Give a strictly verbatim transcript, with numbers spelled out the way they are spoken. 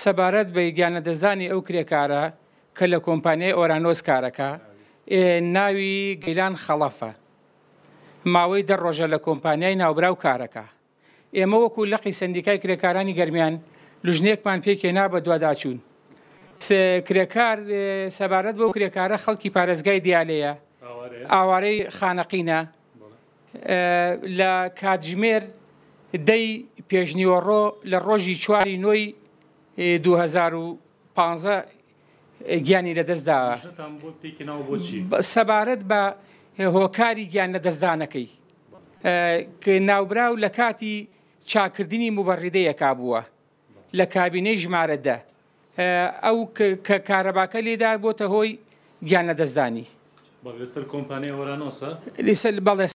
سەبارەت بە گیانلەدەستدانی ئەو کرێکارە کە لە کۆمپانیای ئۆرانۆس کارەکە، ناوی گەیلان خەڵەفە، ماوەی دە ڕۆژە لە کۆمپانیای ناوبراو کارەکە. ئێمە وەکو لقی سەندیکای کرێکارانی گەرمیان لوژنەیەکمان پێکهێنا بە دواداچوون. کرێکار سەبارەت بەو کرێکارە خەڵکی پارێزگای دیالەیە، ئاوارەی خانەقینە، لە کاتژمێر دەی پێشنیوەڕۆ لە ڕۆژی چواری نۆی دوو هەزار و پازدە گیانی لەدەستدا. سەبارەت بە هۆکاری گیان لەدەستدانەکەی ناوبراو لە کاتی چاکردنی موبەڕیدەیەکا بووە لە کابینەی ژمارە دە، ئەو کە کارەباکە لێدا بۆتە هۆی گیان لەدەستدانی. لەسەر کۆمپانیای ئۆرانۆسە؟ بەڵێ.